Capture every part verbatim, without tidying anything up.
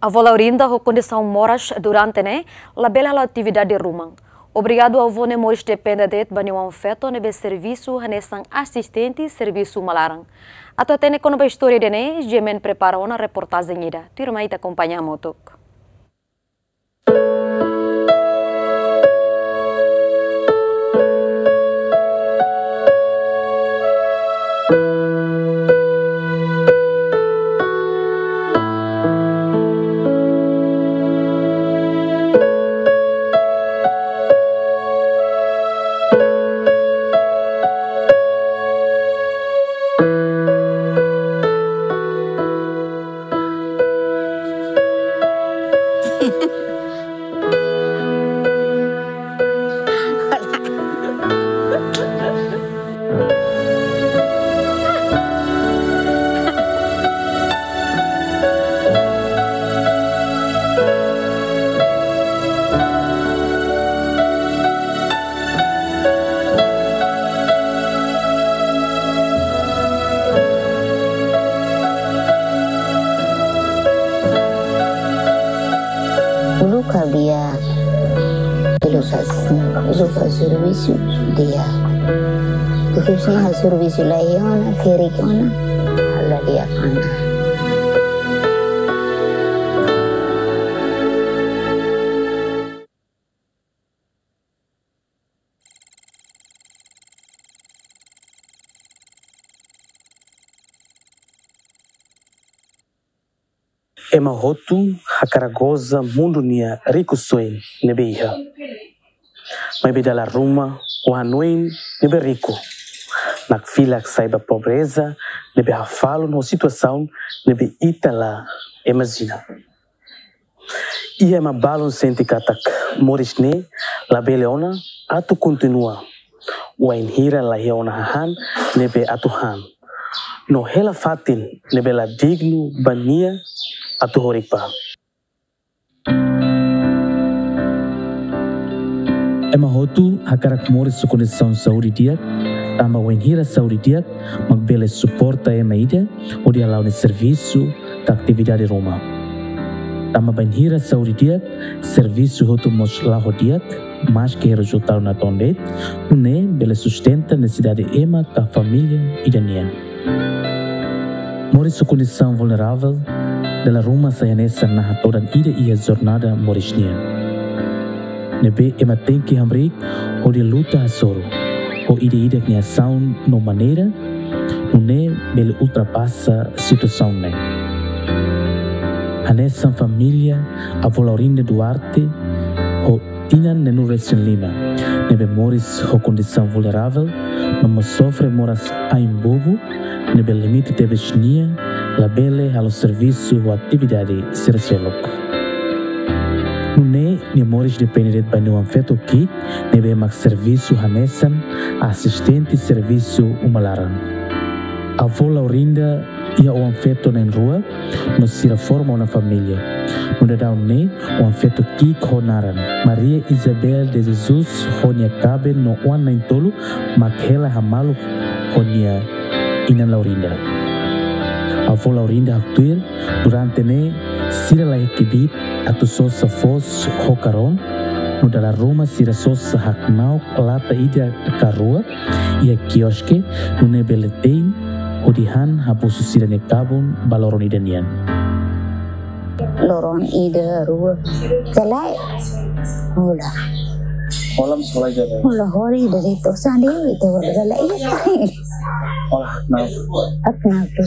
Avó Laurinda ho kondisaun moras durante ne'e labele halo atividade ruma. Obrigadu avó ne'e moris depende de'it ba nia oan-feto ne'ebé servisu hanesan asistente servisu uma laran. Atu hatene kona-ba istória ida-ne'e, Jemen prepara ona reportajen ida. Tuirmai ita akompaña hamutuk. Uluk ha'u di'ak, uluk faz, uluk faz servisu di'ak. Depois ne'e ha'u servisu la iha ona, ferik ona, ha'u la di'ak ona. Ema hotu hakarak goza mundu nia rikusoin ne'ebé iha. Maibé dala ruma ho hanoin ne'ebé riku, nakfilak sai ba pobreza ne'ebé hafalun ho situasaun ne'ebé ita la imajina. Iha ema balun sente katak moris ne'e labele ona atu kontinua, wainhira la iha ona hahán ne'ebé atu han, no hela fatin ne'ebé la dignu ba nia atu horik ba. Ema hotu hakarak moris ho kondisaun saúde di'ak, tanba wainhira saúde di'ak mak bele suporta ema ida hodi hala'o nia servisu ka atividade ruma. Tanba bainhira saúde di'ak, servisu hotu mós la'o di'ak, maski rezultadu natoon de'it, nune'e bele sustenta nesesidade ema ka família ida nian. Moris ho kondisaun vulneravel dala ruma sai hanesan naha todan ida iha jornada moris nian, ne'ebé ema tenke hamriik hodi luta hasoru ho ida-idak nia asaun no maneira, nune'e bele ultrapasa situasaun ne'e. Hanesan família avó Laurinda Duarte ho tinan neenulu resin lima, ne'ebé moris ho kondisaun vulneravel, no mós sofre moras ain bobu, ne'ebé limita tebes nia, labele halo servisu ho atividade sira seluk. Nune'e nia moris depende de'it ba nia oan-feto ki'ik, ne'ebé mak servisu hanesan asistente servisu uma laran. Avó Laurinda iha oan-feto na'in-rua, no sira forma ona família. No daudaun ne'e, oan-feto ki'ik ho naran Maria Isabel de Jesus ho nia kaben no oan na'in-tolu mak hela hamaluk ho nia inan Laurinda. Avó Laurinda haktuir, durante ne'e sira la iha kbiit atu sosa foos ho karón, no dala ruma sira sosa haknauk lata ida ka rua iha kioske, nune'e bele te'in hodi han habusu sira-nia kabun ba loron ida nian. Loron ida, rua, ka lae. Hola. Hola, hola, hola. Hola, hola, ida de'it, sandi ida, hola, hola, ida. Hola, no. Haknauk tu.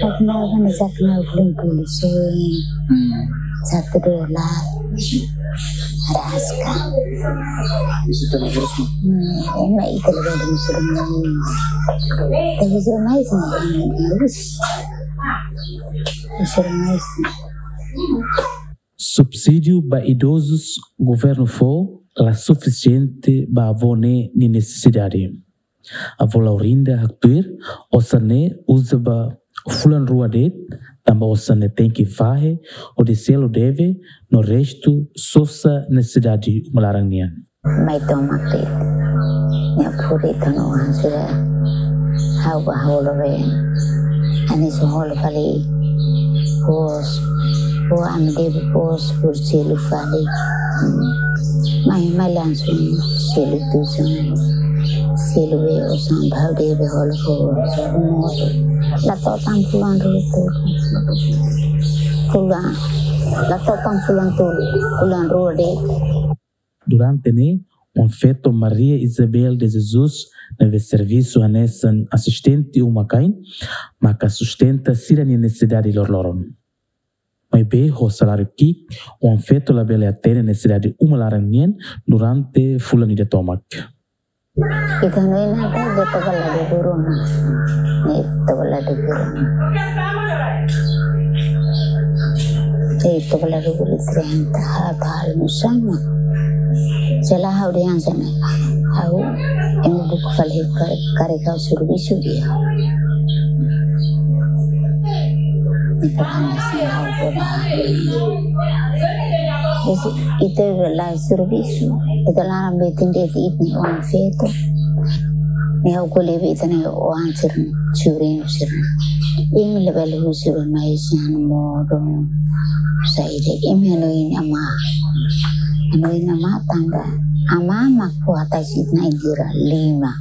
Haknauk kan, haknauk limpu lisun. Hmm. Satu dolar. Araska. Bisa terus. Hmm, enak itu lebih dari suruh main. Tapi suruh main sih, bagus. Suruh main sih. Subsídiu ba idozus governu fó la sufisiente ba avó ne'e nia nesesidade. Avó Laurinda haktuir, osan ne'e uza ba fulan rua de'it, tanba osan ne'e tenke fahe hodi selu deve, no restu sosa nesesidade uma laran nian. Mai tomak de'it. Nia puri tanu han sira. Ha'u ba holo be. Anis holo kali. Hos. Fó ami debe fó, fó selu fali. Hmm. Mai, mai langsung selu tusan. Selu be osan ba debe hola fó osan modo. La to'o tan fulan rua tolu. Fulan. La to'o tan fulan tolu. Fulan rua de'it. Durante ne'e, oan-feto Maria Isabel de Jesus ne'ebé servisu hanesan asistente uma-kain, maka sustenta sira-nia nesesidade loroloron. Maibé ho saláriu ki'ik, oan-feto labele atende nesesidade uma laran nian durante fulan ida tomak. Ita no ina ta de toka la de duru na. Ni toka la de duru na. Ni toka la de duru trenta, ha, ta hal musama. Sela ha'u dehan hanesan ne'e. Ha'u, ema buka fali kar-, karrega servisu di'ak. Ni pernah sela ha'u pernah. Ita la servisu, ita laran be atende ita-nia oan-feto. Ne'e ha'u ko'alia ba ita-nia oan sira-ne'e, sobrinyu sira-ne'e. Imi labele husu ba mai sira-nia modo. Saida imi hanoin amá. Hanoin amá tanba amá mak fó hatais ita-nia ain sira lima.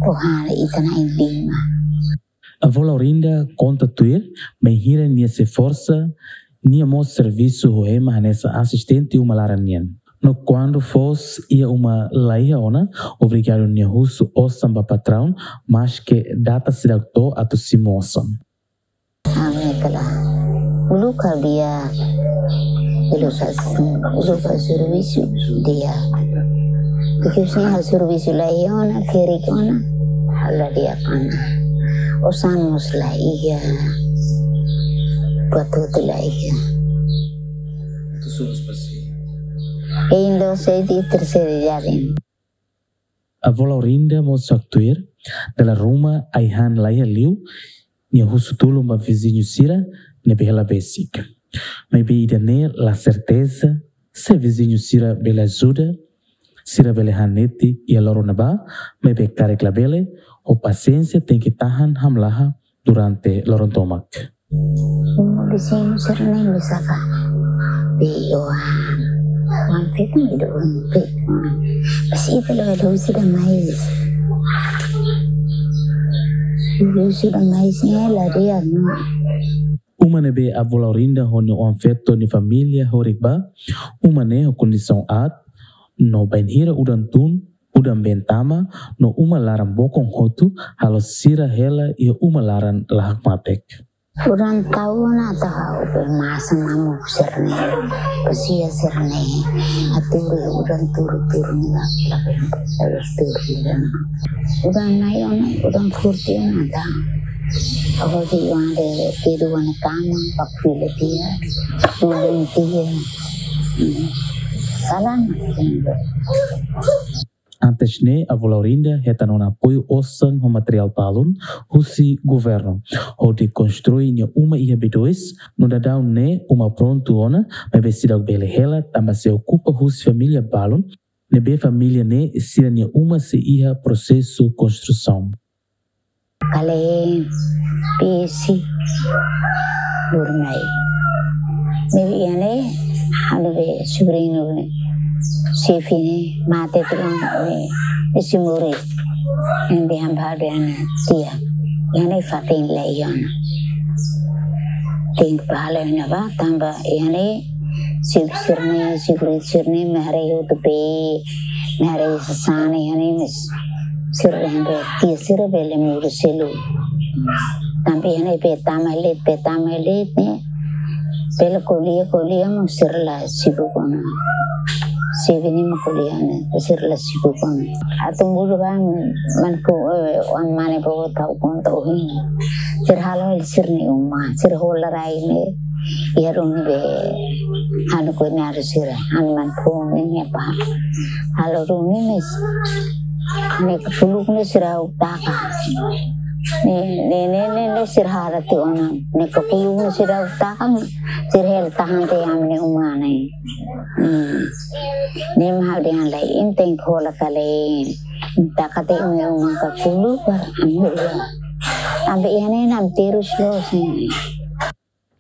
Fó hela ita-nia ain lima. Avó Laurinda konta tuir, bainhira nia sei forsa, nia mós servisu ho ema hanesan asistente uma laran nian. No kuandu foos iha uma la iha ona, obrigadu nia husu osan ba patraun, maske data seidauk to'o atu simu osan. Ami kala. Uluk ha'u di'ak. Uluk ha'u, uluk ha'u servisu di'ak. Porque se ha'u servisu la iha ona, kerik ona, ha'u la di'ak ona. Osan mós la iha. Buat hotu la iha. Indo sei di terceira idade. Avó Laurinda mós haktuir, dala ruma ai-han la iha liu, nia husu tulun ba viziñu sira ne'ebé hela besik. Maibé ida-ne'e la serteza se viziñu sira bele ajuda, sira bele han netik iha loron ne'ebá, maibé karik labele, ho pasiénsia tenke tahan hamlaha durante loron tomak. Viziñu sira-ne'e mesak ka. Be oan. Oan-feto ne'e do oan-feto. Mas ita la husu ida mais. Husu ida mais ne'e la di'ak ona. Uma ne'ebé avó Laurinda ho nia oan-feto nia família horik ba, uma ne'e ho kondisaun aat, no bainhira udan tun, udan-been tama, no uma laran bokon hotu, halo sira hela iha uma laran la hakmatek. Udan tau ona atu ha'u be masa mamuk sira-ne'e, ko'alia sira-ne'e, atu udan turu-turu ne'e la, la be, la be turu udan. Udan na'in ona, udan forte ona atu. Ha'u hodi oan de, de dua na kama, pak fila tiha, dua tiha. Hmm. Salah. Antes ne'e, avó Laurinda hetan ona apoiu osan ho materiál balun husi governu, hodi konstrui nia uma iha B dois, no daudaun ne'e uma prontu ona, maibé seidauk bele hela, tanba sei okupa husi família balun, ne'ebé família ne'e sira-nia uma sei iha prosesu konstrusaun. Kale pesi burmai. Ne'ebé iha ne'e, ha'u-nia be sobriñu ne'e, xefe ne'e, mate tulun ne'e, isi muri. Ne'ebé ha'u dehan ba nia tia. Iha ne'e fatin la iha ona. Tenke ba halo iha-ne'ebá, tanba iha ne'e, xefe sira-ne'e, xefe sira-ne'e, mak haree hotu be, mak haree sasán iha ne'e, mas sira dehan be, tia sira bele muda selu. Tanba iha ne'e be tama leet, be tama leet ne'e. Bele ko'alia, ko'alia mak sira la sibuk ona. Xefe ne'e mak ko'alia ne'e, sira la sibuk ona. Atu muda ba, man ko, eh, oan mane boot ha'u konta ohin. Sira halo sira-nia uma, sira hola rai ne'e. Iha ruma be, ha'u-nia koñadu sira, ha'u-nia maun-foun ne'e, nia apá. Halo ruma ne'e, ne'e kapuluk ne'e sira ha'u taka. Ne'e, ne'e, ne'e, ne'e, ne'e sira hara tiha ona. Ne'e kapuluk ne'e sira ha'u taka, sira hela tahan tiha ami-nia uma ne'e. Hmm. Ne'e mak ha'u dehan lai, imi tenke hola kale. Taka tiha imi-nia uma kapuluk para ami hola. Tanba iha ne'e ami terus loos ne'e.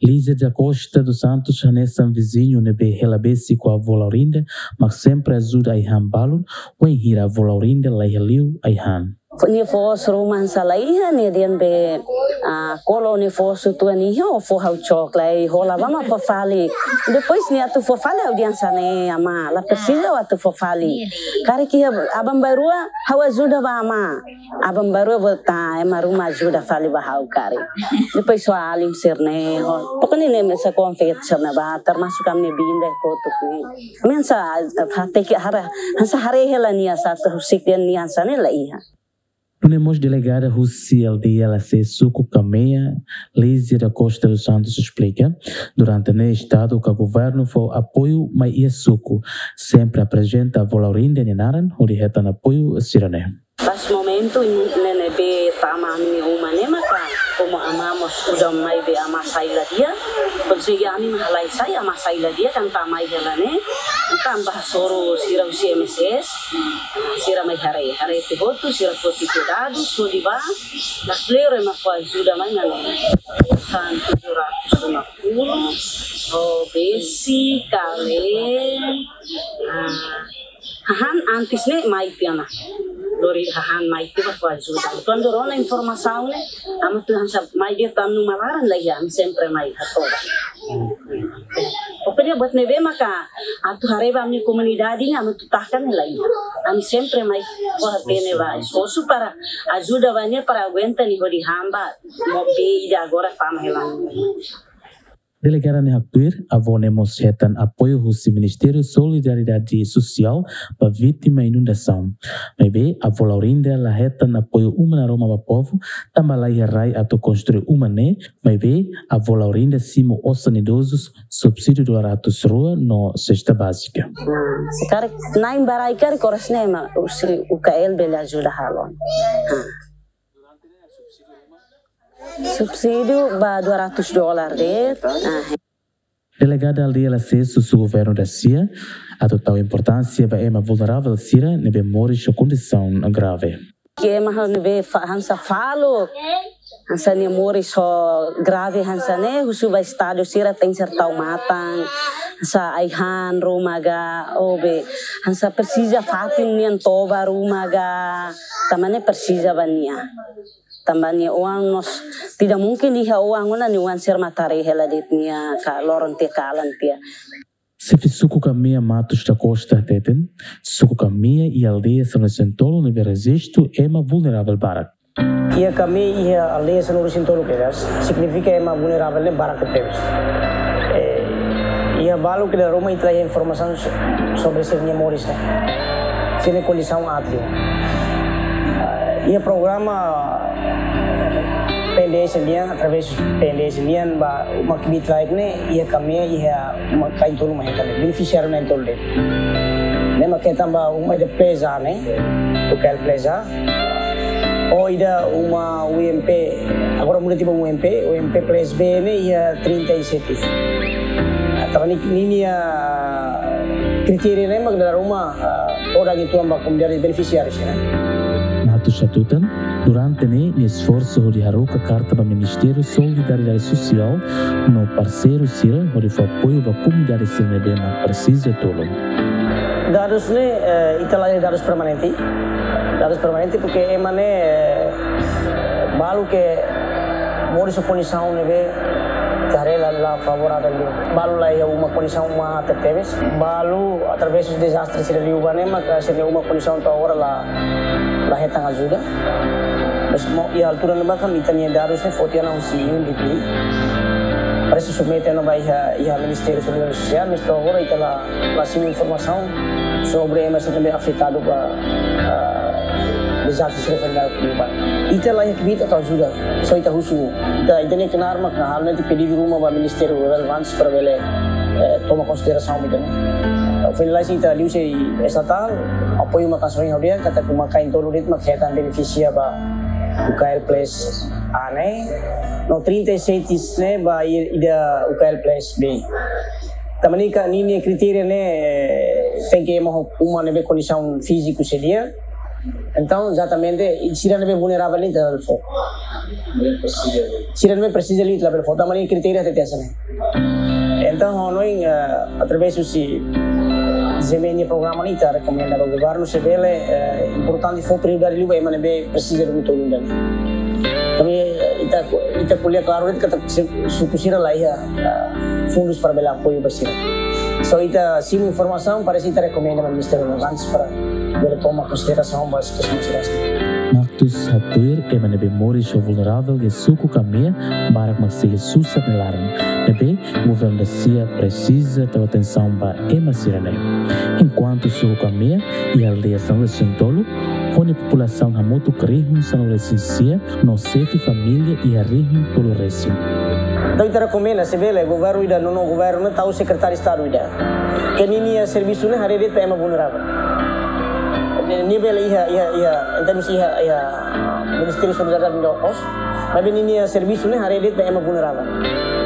Lízia da Costa dos Santos hanesan viziñu ne'ebé hela besik ho avó Laurinda, mak sempre ajuda ai-han balun, wainhira avó Laurinda laiha liu ai-han. Nia foos ruma hanesan laiha, nia dehan be, ah, kolo nia foos uitoan iha, ó fó ha'u cok lai, hola ba mak fó fali. Depois nia atu fó fali ha'u dehan hanesan ne'e: Amá, la presiza ó atu fó fali. Karik iha aban-bainrua ha'u ajuda ba amá. Aban-bainrua bele ema ruma ajuda fali ba ha'u karik. Depois só alin sira-ne'e, ho. Pokoknya ne'e hanesan konfete sira-ne'e ba, termasuk ami-nia biin ida kotuk ne'e. Ami hanesan, ah, hateke hara, hanesan haree hela nia sá atu husik dehan nia hanesan ne'e laiha. Nune'e mós delegada husi aldeia Lase, suku Kamea, Lízia da Costa dos Santos esplika, durante ne'e Estadu ka Governu fó apoiu mai iha suku, sempre aprezenta avó Laurinda nia naran hodi hetan apoiu sira-ne'e. Pas momentu ne'ebé tama ami-nia uma ne'e maka, komu amá mós udan mai be amá sai la di'ak, konsege ami mak halai sai, amá sai la di'ak, entaun amá mai hela ne'e, entaun bá hasoru sira husi M S S, sira mai haree, haree tiha hotu, sira foti tiha dadus, hodi bá, la kleur ema fó ajuda mai ne'e, osan tujuh ratus lima puluh, ho besi, kale, ah, hahán antes ne'e mai tiha ona. Lori hahán mai tiha ba fó ajuda. Kuandu rona informasaun ne'e, ami atu hanesan mai de'it ami-nia uma laran laiha, ami sempre mai hato'o. Pokoknya buat ne'ebé maka atu haree ba ami-nia komunidade ne'e, ami atu taka ne'e laiha. Ami sempre mai fó hatene ba esforsu para ajuda ba nia para aguenta nia hodi han ba, mós be ida agora tama hela. Delegada ne'e haktuir, avó ne'e mós hetan apoiu husi Ministériu Solidariedade Sosiál ba vítima inundasaun. Maibé, avó Laurinda la hetan apoiu uma naroman ba povu, tanba laiha rai atu konstrui uma ne'e, maibé, avó Laurinda simu osan idozus, subsídiu dua ratus rua no sesta bázika. Ah, se karik na'in ba rai karik oras ne'e mak husi U K L bele ajuda halo. Ah. Subsídiu ba dua ratus dolar de'it. Ah. Delegada aldeia Lase husu governu da sia atu tau importánsia ba ema vulneravel sira ne'ebé moris ho kondisaun grave. Ke ema ne'ebé fa-, hanesan faluk, hanesan nia moris ho grave hanesan ne'e, husu ba Estadu sira tenke ser tau matan, hanesan ai-han ruma ka, ou be, hanesan presiza fatin nian toba ruma ka, tanba ne'e presiza ba nia. Tanba nia oan mós, tidak mungkin iha oan ona nia oan sira mak haree hela de'it nia ka loron tiha kalan tiha. Xefe suku Kamea Matos da Costa hateten, suku Kamea iha aldeia sanulu-resin-tolu ne'ebé rejistu ema vulneravel barak. Iha Kamea iha aldeia sanulu-resin-tolu kedas, signifika ema vulneravel ne'e barak tebes. Eh, iha balu ke dala ruma ita la iha informasaun so-, sobre sira-nia moris ne'e. Sira-nia kondisaun aat liu. Ah, iha programa P N D S nian, através P N D S nian, ba uma kbiit-laek ne'e, iha Kamea, iha uma kain tolu mak hetan, benefisiáriu na'in-tolu de'it. Ne'e mak hetan ba uma ida Plaza ne'e, U K L Plaza. Ou ida uma U M P, agora muda tiha ba U M P, U M P Place B ne'e iha trinta e sete. Ah, tanba ne'e ninia kritéria ne'e mak dala ruma, ah, todan uitoan ba komunidade benefisiáriu sira. Matos hatutan, durante ne'e nia esforsu hodi haruka karta ba Ministériu Solidariedade Sosiál no parseiru sira hodi fó apoiu ba komunidade sira ne'ebé mak presiza tulun. Dadus ne'e, eh, ita la iha dadus permanente. Dadus permanente porque ema ne'e, eh, balu ke moris ho kondisaun ne'ebé ita haree la, la favorável liu. Balu la iha uma, kondisaun uma aat tebes. Balu através dezastre sira liubá ne'e maka sira-nia uma, kondisaun to'o agora la, la hetan ajuda. Mas mo-, iha altura ne'ebá kan ita-nia dadus ne'e foti ona husi U N D P. Parese submete ona ba iha, iha Ministériu Solidariedade Sosiál, mas to'o agora ita la, la simu informasaun sobre ema sira ne'ebé afetadu ba, ah, dezastre sira fenal liubá. Ita la iha kbiit atu ajuda, só ita husu. Ita, ita-nia knaar mak halo netik pedidu ruma ba ministériu relevante para bele, eh, toma konsiderasaun ida-ne'e. Finaliza ita liuhusi estatál, apoiu mak hasoru ha'u dehan katak uma kain tolu de'it mak hetan benefisia ba U K L Place A ne'e, no trinta e sete ne'e ba i-, ida U K L Place B. Tanba ne'e ka ninia kritéria ne'e, tenke ema ho uma ne'ebé kondisaun fíziku sei di'ak, Entaun, ezatamente, sira ne'ebé vulneravel ne'e ita labele fó. Sira ne'ebé presiza liu ita labele fó. Tanba nia kritériu hatete hanesan ne'e. Entaun, ha'u hanoin, eh, através husi GMN nia programa ne'e ita rekomenda ba governu se bele, eh, importante fó prioridade liu ba ema ne'ebé presiza duni tolu ida-ne'e. Tanba, eh, ita, ita ko'alia klaru de'it katak se-, suku sira la iha, eh, fundus para bele apoiu ba sira. So ita simu informasaun, parese ita rekomenda ba Ministériu relevante para bele toma konsiderasaun ba situasaun sira. Marcus hatuir ema ne'ebé moris ho vulneravel iha suku Kamea barak mak sei susar nia laran. Ne'ebé governu sira presiza tau atensaun ba ema sira-ne'e. Enkuantu suku Kamea iha aldeia sanulu-resin-tolu, ho nia populasaun hamutuk rihun sanulu-resin-sia, no xefe família iha rihun tolu-resin. Entaun ita rekomenda se bele governu ida, nono governu tau sekretáriu Estadu ida. Ke ninia servisu ne'e haree de'it ba ema vulneravel. Nia bele iha, iha, iha, em termos iha, iha Ministériu Solidariedade no Okos. Maibé ninia servisu ne'e haree de'it ba ema vulneravel.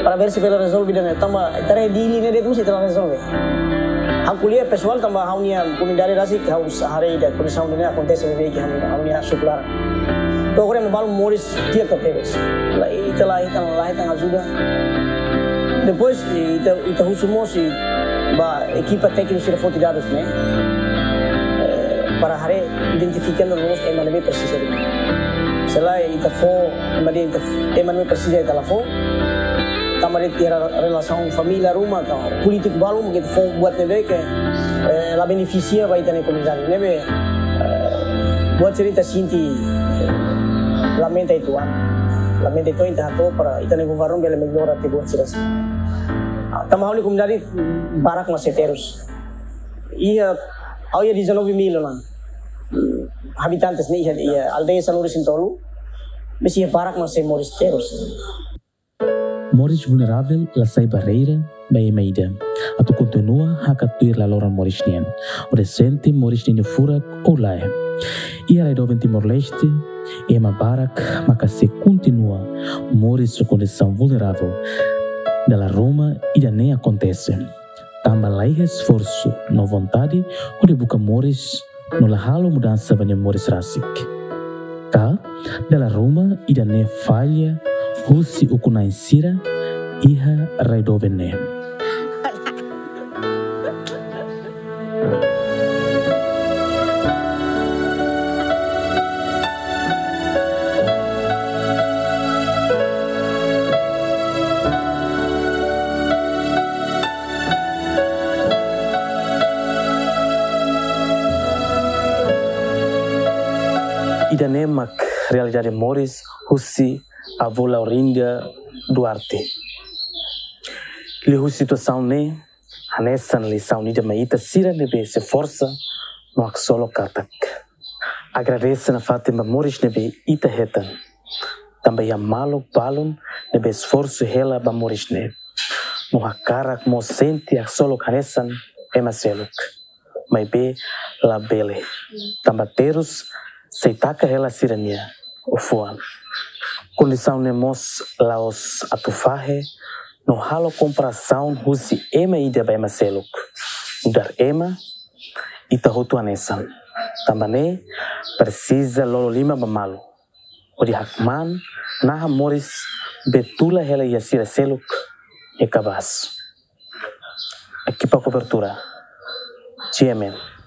Para ver se bele rezolve ida-ne'e. Tanba ita haree Dili ne'e de'it mós ita la rezolve. Ha'u ko'alia pesoál tanba ha'u-nia komunidade rasik ha'u haree ida kondisaun ne'e akontese beibeik iha ha'u-nia suku laran. To'o agora ema balu moris di'ak tebes. La, ita la hetan, la hetan ajuda. Depois, ita, ita husu mós ba ekipa tékniku sira foti dadus ne'e, eh, para haree identifikando loos ema ne'ebé presiza duni. Se lae ita fó, ema ne'ebé ita f-, ema ne'ebé presiza ita la fó. Tanba de'it iha relasaun família ruma, ka polítiku balu, mak ita fó buat ne'ebé ke, eh, la benefisia ba ita-nia komunidade. Ne'ebé, eh, buat sira ita sente, eh, lamenta uitoan. Lamenta uitoan, ita hato'o para ita-nia governu bele mellora tiha buat sira. Ah, tanba ha'u-nia komunidade barak mak sei terus. Iha, ha'u iha dezanove mil ona, mm, habitantes ne'e iha, iha aldeia sanulu-resin-tolu, maibé iha barak mak sei moris terus. Moris vulneravel la sai barreira ba ema ida atu kontinua hakat tuir laloran moris nian, hodi sente moris ninia furak ou lae. Iha rai doben Timor-Leste, ema barak maka sei kontinua moris ho kondisaun vulneravel dala ruma ida-ne'e akontese, tanba la iha esforsu no vontade hodi buka moris no la halo mudansa ba nia moris rasik. Ka dala ruma ida-ne'e falla husi ukun-na'in sira iha rai doben ne'e. Ida-ne'e mak realidade moris husi avó Laurinda Duarte. Liuhusi situasaun ne'e, hanesan lisaun ida mai ita sira ne'ebé sei forsa no haksolok katak agradese nafatin ba moris ne'ebé ita hetan. Tanba iha maluk balun ne'ebé esforsu hela ba moris ne'e, no hakarak mós sente haksolok hanesan ema seluk. Maibé labele, tanba terus sei taka hela sira-nia fuan. Kondisaun ne'e mós la'ós atu fahe no halo komparasaun husi ema ida ba ema seluk. Nu'udar ema, ita hotu hanesan. Tanba ne'e, presiza lolo liman ba malu hodi hakmaan naha moris ne'ebé tula hela iha sira seluk nia kabaas. Ekipa kobertura, GMN.